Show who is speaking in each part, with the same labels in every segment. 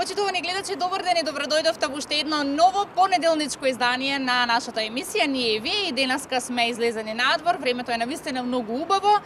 Speaker 1: Почитувани гледачи, добар ден и добродојдовте во уште едно ново понеделничко издание на нашата емисија. Ние и вие и денеска сме излезени надвор, времето е навистина многу убаво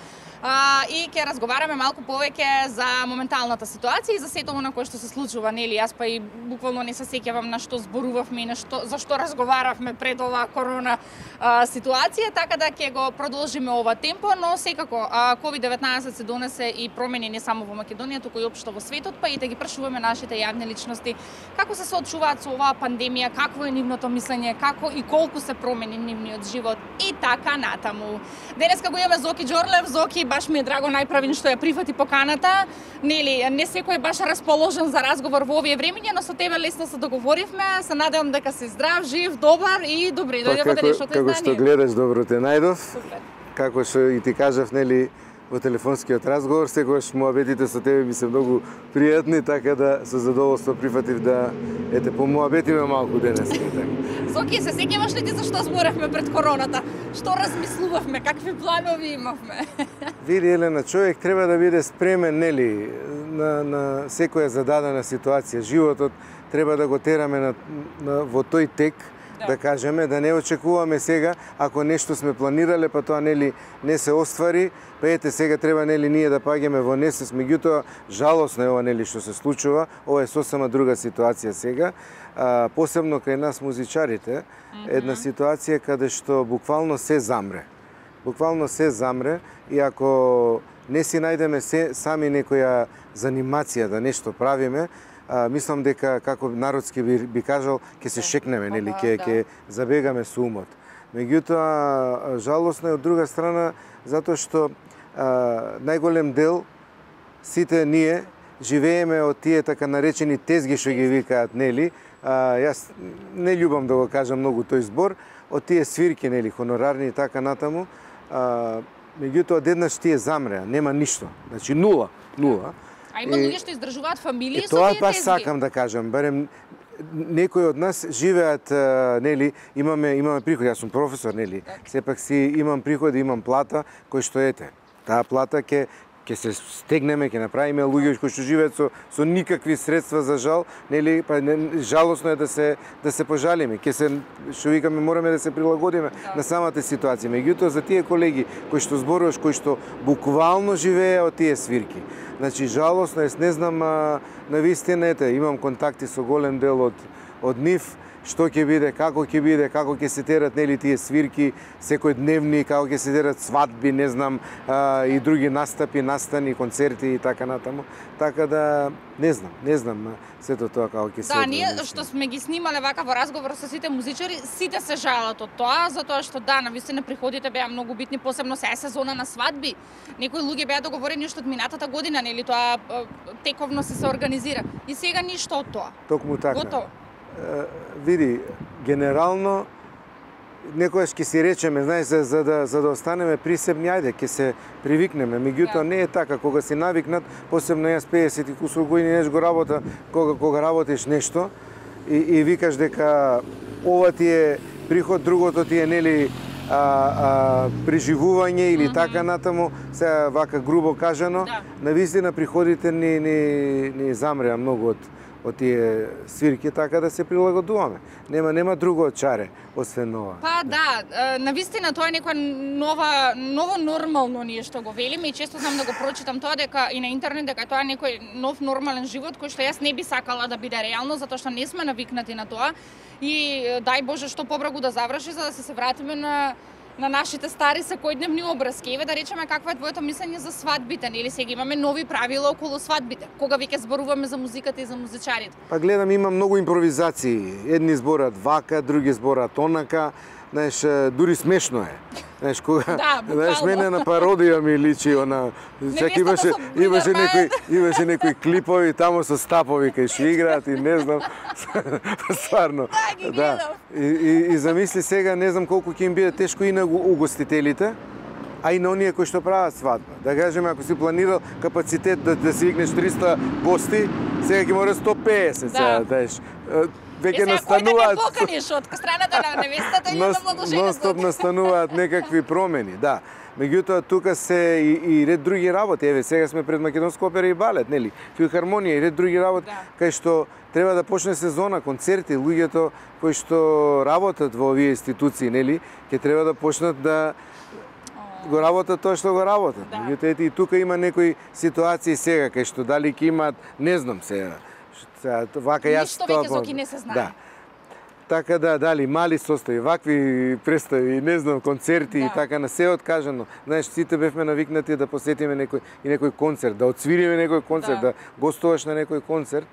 Speaker 1: и ќе разговараме малку повеќе за моменталната ситуација и за сето она кое што се случува, нели? Јас па и буквално не се сеќавам на што зборувавме и на што за што разговаравме пред оваа корона ситуација, така да ќе го продолжиме ова темпо, но секако COVID-19 се донесе и промени не само во Македонија, туку и општо во светот, па и да ги прашуваме нашите јавни личности како се соочуваат со оваа пандемија, какво е нивното мислење, како и колку се промени нивниот живот и така натаму. Денеска го имаме Зоки Џорлев. Зоки, баш ми е драго најправин што ја прифати поканата. Нели, не секој е баш расположен за разговор во овие времиња, но со тебе лесно се договоривме. Се надевам дека си здрав, жив, добар и добре дојде во денешното издание.
Speaker 2: Како што гледаш, добро те најдов.
Speaker 1: Супер.
Speaker 2: Како што и ти кажав, нели, во телефонскиот разговор, секогаш муабетите со тебе ми се многу пријатни, така да со задоволство прифатив да помуабетиме малку денес.
Speaker 1: Зоки, се сеќаваш ли ти за што зборевме пред короната? Што размислувавме, какви планови имавме?
Speaker 2: Види, Елена, човек треба да биде спремен, нели, на секоја зададена ситуација. Животот треба да го тераме во тој тек, да кажеме, да не очекуваме сега, ако нешто сме планирале, па тоа нели не се оствари, па ете сега треба нели ние да паѓаме во несес, меѓутоа жалосно е ова нели што се случува, ова е сосема друга ситуација сега, посебно кај нас музичарите, една ситуација каде што буквално се замре. Буквално се замре и ако не си најдеме сами некоја занимација да нешто правиме, мислам дека, како народски би кажал, ќе се шекнеме, нели, ќе забегаме со умот. Меѓутоа, жалосно е од друга страна, затоа што најголем дел, сите ние, живееме од тие така наречени тезги што ги викаат, нели, јас не љубам да го кажам многу тој збор, од тие свирки, нели, хонорарни и така натаму, меѓутоа, одеднаш тие замреа, нема ништо, значи нула.
Speaker 1: А има луѓе што издржуваат фамилии со
Speaker 2: тоа
Speaker 1: тие
Speaker 2: пак
Speaker 1: тезги.
Speaker 2: сакам да кажам, барем некои од нас живеат, нели, имаме приходи, јас сум професор, нели, сепак си имам приходи, имам плата, кој што ете. Таа плата ќе се стегнеме, ќе направиме луѓе кои што живеат со никакви средства за жал, нели, па жалосно е да се пожалиме. Ќе се, што викаме, мораме да се прилагодиме на самата ситуација. Меѓутоа за тие колеги кои што зборуваш, кои што буквално живее од тие свирки. Значи жалосно е, не знам навистина, имам контакти со голем дел од нив, што ќе биде, како ќе се терат нели тие свирки секојдневни, како ќе се терат свадби, не знам, и други настапи, настани, концерти и така натаму. Така да не знам сето тоа како ќе се.
Speaker 1: Да, ние што сме ги снимале вака во разговор со сите музичари, сите се жалат од тоа, затоа што да, навистина приходите беа многу битни, посебно се сезона на свадби. Некои луѓе беа договорени уште од минатата година, нели, тоа тековно се организира. И сега ништо од тоа.
Speaker 2: Токму така.
Speaker 1: Готово.
Speaker 2: Види, генерално, некојаш ќе си речеме, знаеш, за да останеме присебни, ајде, ќе се привикнеме. Меѓутоа не е така, кога си навикнат, посебно јас 50 и кусур години неш го работа, кога работиш нешто и викаш дека ова ти е приход, другото ти е нели преживување или така натаму, сега вака грубо кажано, навистина приходите ни замреа многу од тие свирки, така да се прилагодуваме. Нема друго чаре, освен ова.
Speaker 1: Па да, навистина тоа е некоја ново нормално ние што го велиме и често знам да го прочитам тоа дека и на интернет дека тоа е некој нов нормален живот кој што јас не би сакала да биде реално, затоа што не сме навикнати на тоа и дај Боже што побрагу да заврши за да се вратиме на нашите стари секојдневни обрски. Еве да речеме какво е твоето мислење за свадбите, нели сега имаме нови правила околу свадбите. Кога веќе зборуваме за музиката и за музичарите?
Speaker 2: Па гледам, има многу импровизации. Едни зборат вака, други зборат онака. Знаеш, дури смешно е. Знаеш, кога, знаеш, мене на пародија ми личи она, чак имаше некои клипови таму со стапови кај што играат и не знам, стварно.
Speaker 1: Да,
Speaker 2: и замисли сега, не знам колку ќе им биде тешко и на угостителите, а и на оние кои што прават свадба. Да кажеме, ако си планирал капацитет да си викнеш 300 гости, сега ќе мора 150, знаеш. Веќе настануваат.
Speaker 1: Кој да поканиш од страната на невестата или на младожената?
Speaker 2: Нон-стоп настануваат некакви промени, да. Меѓутоа тука се и ред други работи. Еве сега сме пред Македонска опера и балет, нели? Филхармонија и ред други работи, кај што треба да почне сезона, концерти, луѓето кои што работат во овие институции, нели, ќе треба да почнат да го работат тоа што го работат. Меѓутоа и тука има некои ситуации сега кај што дали ќе имаат, не знам сега. Вака јас
Speaker 1: ништо веќе Зоки не се знае.
Speaker 2: Да. Така да, дали мали состави, вакви представи, не знам, концерти и така на се откажано. Знаеш, сите бевме навикнати да посетиме некој концерт, да отсвириме некој концерт, да гостуваш на некој концерт.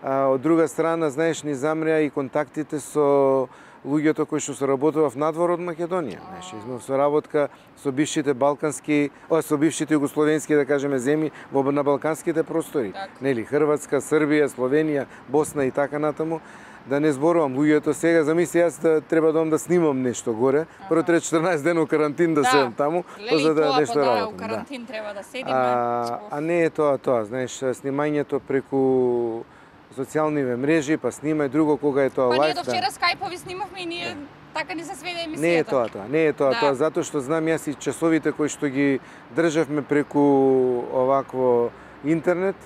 Speaker 2: Од друга страна, знаеш, ни замрија и контактите со луѓето кои што се работува в надвор од Македонија. Знаеш, имав соработка со бившите балкански, со бившите југословенски, да кажеме, земји на балканските простори. Нели, Хрватска, Србија, Словенија, Босна и така натаму. Да не зборувам, луѓето сега, замисли јас да треба да снимам нешто горе, прво треба 14 дена у карантин да седам таму, за да нешто работам.
Speaker 1: У карантин треба да седиме.
Speaker 2: А не е тоа, знаеш, снимањето преку социјалниве мрежи, па снимај друго кога е тоа лајф.
Speaker 1: Па ние до вчера скајпови снимавме и ние така ни се сведе емисијата.
Speaker 2: Не е тоа, затоа што знам јас и часовите кои што ги државме преку овакво интернет,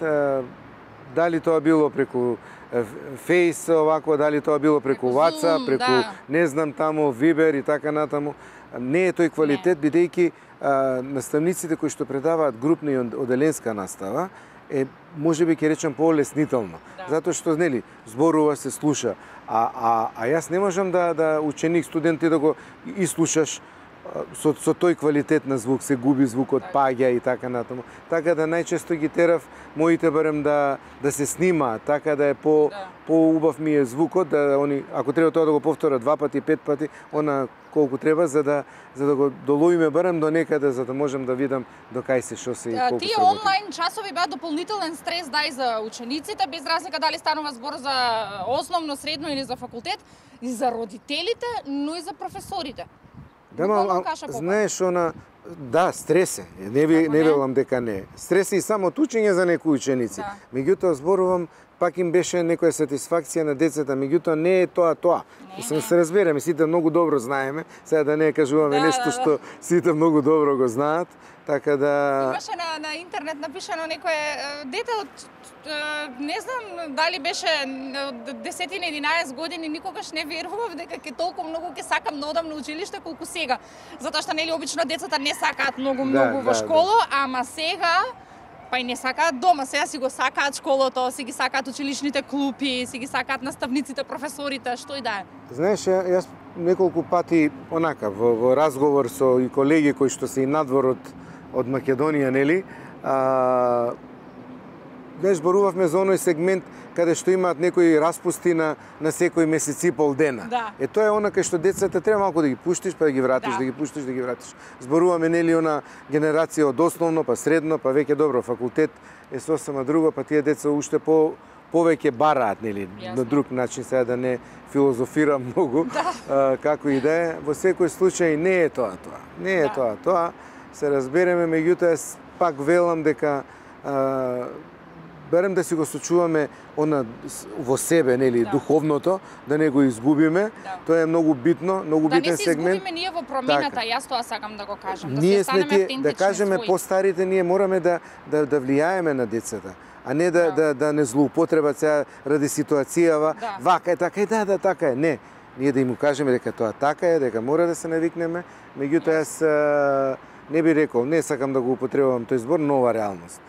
Speaker 2: дали тоа било преку Фейс, овако, дали тоа било преку WhatsApp, преку не знам таму, Viber и така натаму, не е тој квалитет, бидејќи наставниците кои што предаваат групна и оделенска настава, можеби ќе речем полеснително, затоа што нели зборува се слуша, а јас не можам да ученик, студент да го слушаш со тој квалитет на звук, се губи звукот, паѓа и така натаму. Така да најчесто ги терав моите барем да се снимаат, така да е поубав ми е звукот, да они ако треба тоа да го повторат 2 пати, 5 пати, она колку треба за да го доловиме барем до некаде, за да можам да видам до кај се, што се и колку се.
Speaker 1: Тие онлайн часови беа дополнителен стрес и за учениците, без разлика дали станува збор за основно, средно или за факултет, и за родителите, но и за професорите.
Speaker 2: Знаеш, стрес е. Не велам дека не е. Стрес е и самото учење за некои ученици. Меѓутоа, зборувам, пак им беше некоја сатисфакција на децата, меѓутоа не е тоа. Мислам, се разбереме, сите многу добро знаеме, сега да не кажуваме нешто што сите многу добро го знаат, така да...
Speaker 1: Имаше на интернет напишано некое дете од не знам дали беше 10-11 години, никогаш не верував дека ќе толку многу ќе сакам да одам на училиште колку сега. Затоа што нели обично децата не сакаат многу во школа, ама сега па и не сакаат дома, сега си го сакаат школото, си ги сакаат училишните клупи, си ги сакаат наставниците, професорите, што и да е.
Speaker 2: Знаеш, јас неколку пати онака во разговор со и колеги кои што се и надвор од Македонија, нели, знаеш, зборувавме за оној сегмент каде што имаат некои распусти на секој месец и пол дена. Тоа е она кај што децата треба малку да ги пуштиш, па да ги вратиш, да ги пуштиш, да ги вратиш. Зборуваме нели она генерација од основно, па средно, па веќе добро факултет е сосема друго, па тие деца уште повеќе бараат, нели, на друг начин, сега да не филозофирам многу, како и да е. Во секој случај не е тоа. Не е тоа. Се разбереме, меѓутоа пак велам дека барем да си го сочуваме во себе, нели, духовното, да не го изгубиме. Тоа е многу битно, многу битен сегмент.
Speaker 1: Да не се изгубиме ние во промената, јас тоа сакам да го кажам.
Speaker 2: Ние сме тие, да кажеме, постарите, ние мораме да влијаеме на децата, а не да не злоупотребат сега ради ситуацијава, вака е, така е, така е. Не, ние да им кажеме дека тоа така е, дека мора да се навикнеме, меѓутоа јас не би рекол, не сакам да го употребувам тој збор, нова реалност.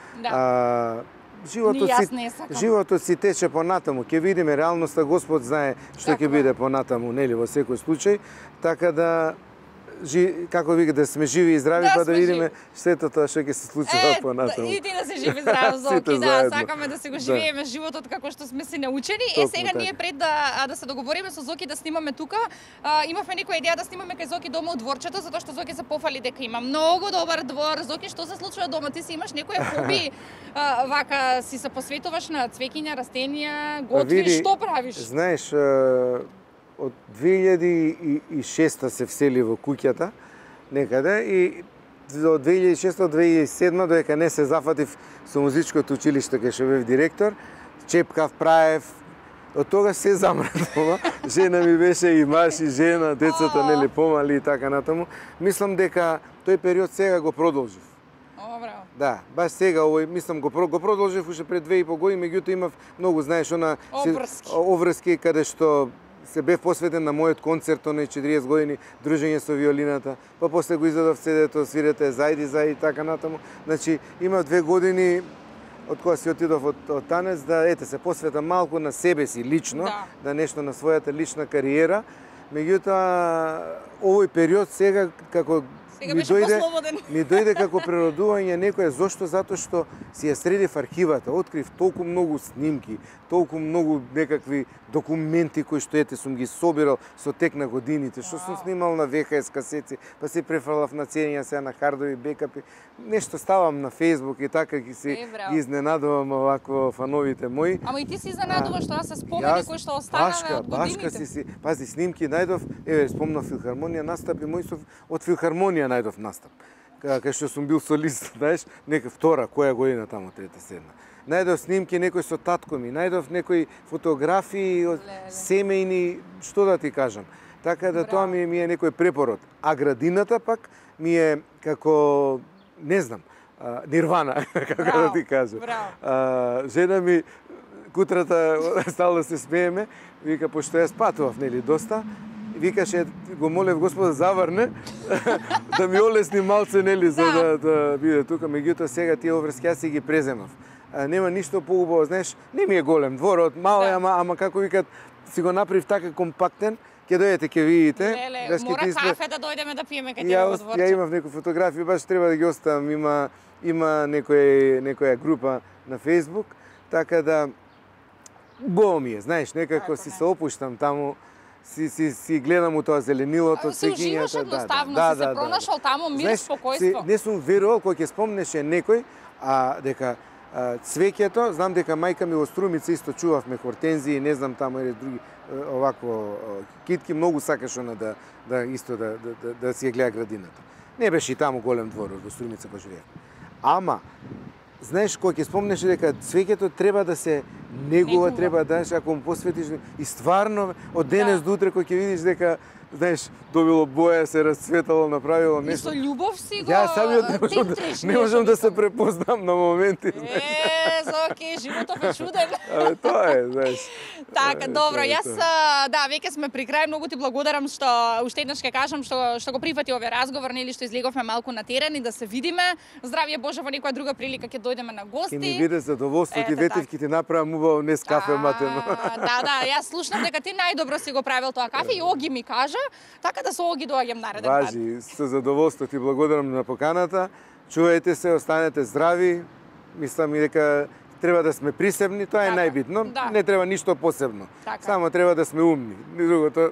Speaker 2: Животот си тече понатаму, ќе видиме реалноста, Господ знае што ќе биде понатаму, нели, во секој случај, така да како вика, да сме живи и здрави, па да видиме сето тоа што ќе се случува понатаму.
Speaker 1: И ти да си жив и здрав, Зоки, сакаме да се го живееме животот како што сме си научени. Сега ние пред да се договориме со Зоки да снимаме тука, имавме некоја идеја да снимаме кај Зоки дома од дворчето, затоа што Зоки се пофали дека има многу добар двор. Зоки, што се случува дома? Ти си имаш некоја хоби, вака си се посветуваш на цвеќиња, растенија, готвиш, што правиш?
Speaker 2: Знаеш, од 2006 се всели во куќата некаде и од 2006 до 2007 додека не се зафатив со музичкото училиште кај што бев директор, чепкав, праев, Од тогаш се замрзнува. Жена ми беше и маж и жена, децата нели помали и така натаму. Мислам дека тој период сега го продолжив.
Speaker 1: Браво.
Speaker 2: Да, баш сега овој мислам го продолжив уште пред 2,5 години, меѓутоа имав многу, знаеш, обврски каде што се бев посветен на мојот концерт, оној 40 години дружење со виолината, па после го издадов CD-то, свирете зајди и така натаму. Значи, имав 2 години од кога си отидов од танец да се посветам малку на себе си лично, да нешто на својата лична кариера. Меѓутоа, овој период сега како ми дојде како природување некоја, зошто? Затоа што си ја средив архивата, открив толку многу снимки, толку многу некакви документи кои што сум ги собирал со тек на годините, што сум снимал на VHS касети, па се префрлав на ценија сега на хардови бекапи, нешто ставам на Facebook и така ги изненадувам овако фановите мои.
Speaker 1: Ама и ти си изненадуваш тоа се спомени кои што останале од годините.
Speaker 2: Пази, снимки најдов, спомнав филхармонија настапи мои од филхармонија најдов настап. Кај што сум бил солист, знаеш, нека втора, која година тамо, трета, седна. Најдов снимки некој со татко ми, најдов некои фотографии од семејни, што да ти кажам. Така да тоа ми е некој препород. А градината пак ми е како, не знам, нирвана, како да ти кажам. Жена ми, кутрата, стално се смееме, вика, пошто ја спатував, нели, доста, викаше, го молев Господа заврне, да ми олесни малце, нели, за да биде тука. Меѓутоа сега тие обврски јас си ги преземав. Нема ништо поубаво, знаеш, не ми е голем дворот, мал е, ама како викат, си го направив така компактен, ќе дојдете, ќе видите.
Speaker 1: Леле, мора кафе да дојдеме да пиеме кај тебе во дворче.
Speaker 2: Ја имав некои фотографии, баш треба да ги оставам, има некоја група на Facebook, така да убаво ми е, знаеш, некако си се опуштам таму, си гледам у тоа зеленилото,
Speaker 1: цвеќињата. Се уживаш едноставно, си се пронашал таму, мир, спокојство.
Speaker 2: Не сум верувал кој ќе спомнеше некој, дека цвеќето, знам дека мајка ми во Струмица исто чувавме хортензии, не знам таму или други овакво китки, многу сакаш она да си ја гледа градината. Не беше и таму голем двор во Струмица кога живеев. Ама знаеш, кој ќе спомнеше дека цвеќето треба да се негува, треба да, ако му посветиш и стварно од денес до утре кој ќе видиш дека, знаеш, добило боја, се расцветало, направило нешто.
Speaker 1: И со љубов си го
Speaker 2: тентриш. Не можам да се препознам на моменти.
Speaker 1: Зоки, животот е чуден.
Speaker 2: Тоа е, знаеш.
Speaker 1: Така, добро, јас, веќе сме при крај, многу ти благодарам што уште еднаш ќе кажам што го прифати овој разговор, нели што излеговме малку на терен и да се видиме. Здравје Боже, во некоја друга прилика ќе дојдеме на гости.
Speaker 2: Ќе ми биде задоволство, ти ветив ќе ти направам убаво нес кафе матено.
Speaker 1: Јас слушнав дека ти најдобро си го правил тоа кафе и Оги ми кажа, така да со Оги доаѓам нареден пат.
Speaker 2: Важи, со задоволство ти благодарам на поканата. Чувајте се, останете здрави. Мислам и дека треба да сме присебни, тоа е најбитно. Не треба ништо посебно. Само треба да сме умни. Другото,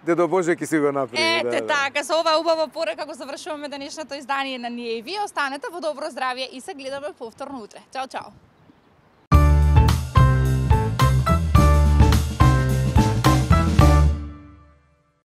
Speaker 2: Дедо Боже ќе си го направи.
Speaker 1: Така, со ова убава порека го завршуваме денешното издание на Ние и вие. Останете во добро здравје и се гледаме повторно утре. Чао, чао.